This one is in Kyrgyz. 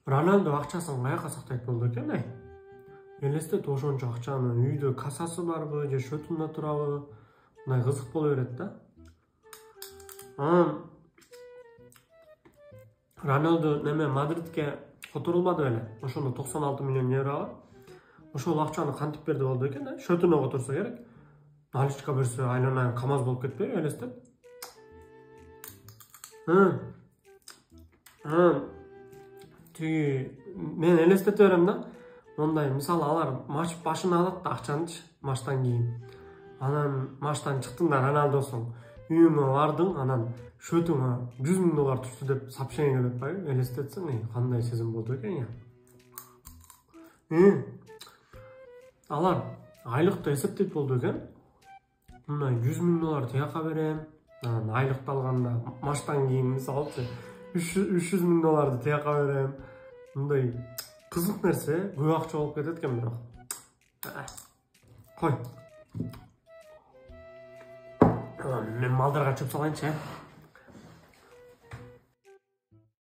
Ronaldo акчасын каяка сактайт болду экен, ай? Элестет ошончо акчаны үйдө кассасы барбы, же шөтүндө турабы? Мындай кызык боло берет да. Ronaldo неме Мадридке которулбады беле? Ошондо 96 миллион еврога. Ошол акчаны кантип берди болду экен, да? Шөтүнө которсо керек. Наличка берсе, айланайын КамАЗ болуп кетпейби элестет? Мен элестете берем да. Мондай, мисалы, алар матч башына алат да акчанычы, матчтан кийин. Анан матчтан чыктың да Роналдосуң. Үйүңө бардың, анан шөтүңө 100 000 доллар түштү деп сообщение келип атпайбы? Элестетсең, кандай сезим болду экен я. Алар айлыкты эсептейт болду экен. Мындай 100 000 доллар тияка берем. Анан айлыкты алганда матчтан кийин мисалычы 300 000 долларды тияка берем. Мындай кызык нерсе, көп акча болуп кетет экен бирок. Кой. Мен малдарга чөп салайынчы.